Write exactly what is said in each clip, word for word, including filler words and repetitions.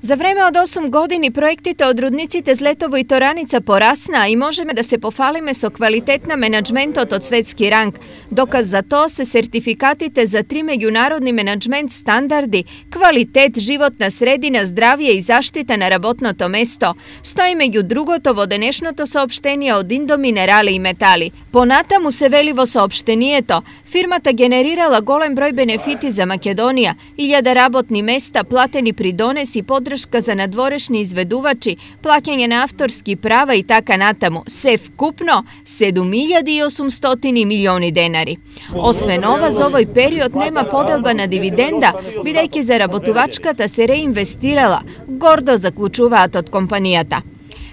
За време од осум години проектите од рудниците Злетово и Тораница порасна и можеме да се пофалиме со квалитет на менаџментот од светски ранг. Доказ за тоа се сертификатите за три меѓународни менаџмент стандарди, квалитет, животна средина, здравје и заштита на работното место. Стои меѓу другото во денешното соопштение од Индоминерали и Метали. Понатаму се вели во соопштението, фирмата генерирала голем број бенефити за Македонија, илјада работни места, платени придонеси, поддршка за надворешни изведувачи, плаќање на авторски права и така натаму. Се вкупно седум илјади и осумстотини милиони денари. Освен ова, за овој период нема поделба на дивиденда, бидејќи заработувачката се реинвестирала, гордо заклучуваат од компанијата.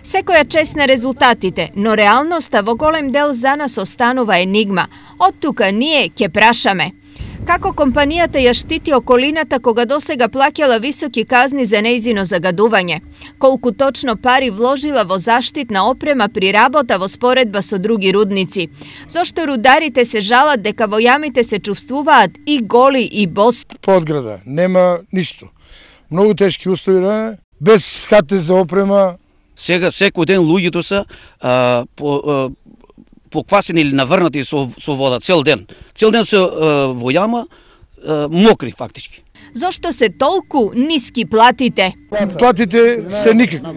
Секоја чест на резултатите, но реалноста во голем дел за нас останува енигма. Од тука ние ќе прашаме. Како компанијата ја штити околината кога досега плаќала високи казни за нејзино загадување? Колку точно пари вложила во заштитна опрема при работа во споредба со други рудници? Зошто рударите се жалат дека во јамите се чувствуваат и голи и боси? Подграда нема ништо. Многу тешки услови, без хате за опрема. Сега секој ден луѓето се а, по, а, поквасени или наврнати со, со вода цел ден. Цел ден се а, во јама, а, мокри фактички. Зошто се толку ниски платите? Платите се никакви.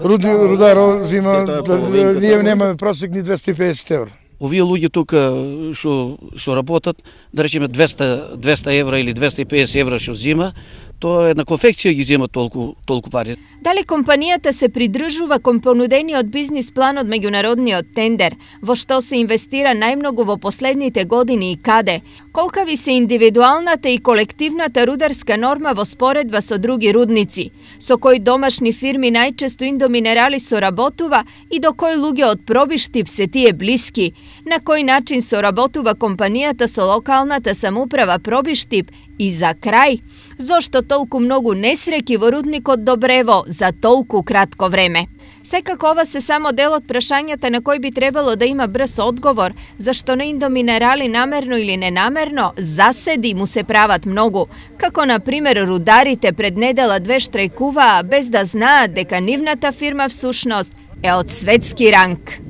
Руд, рудар зима, да, да, ние немаме просек ни двесте и педесет евра. Овие луѓе тука што што работат, да речеме двесте, двесте евра или двесте и педесет евра што зима, тоа една конфекција ги зема толку толку пари. Дали компанијата се придржува кон понудениот бизнис план од меѓународниот тендер, во што се инвестира најмногу во последните години и каде? Колкави се индивидуалната и колективната рударска норма во споредба со други рудници? Со кои домашни фирми најчесто Индоминерали соработува и до кој луѓе од Пробиштип се тие блиски? На кој начин соработува компанијата со локалната самоуправа Пробиштип? И за крај, зошто толку многу несреќи во рудникот Добрево за толку кратко време? Секако ова се само дел од прашањата на кој би требало да има брз одговор, зашто на Индоминерали намерно или ненамерно заседи му се прават многу, како на пример рударите пред недела две штрајкуваа без да знаат дека нивната фирма всушност е од светски ранг.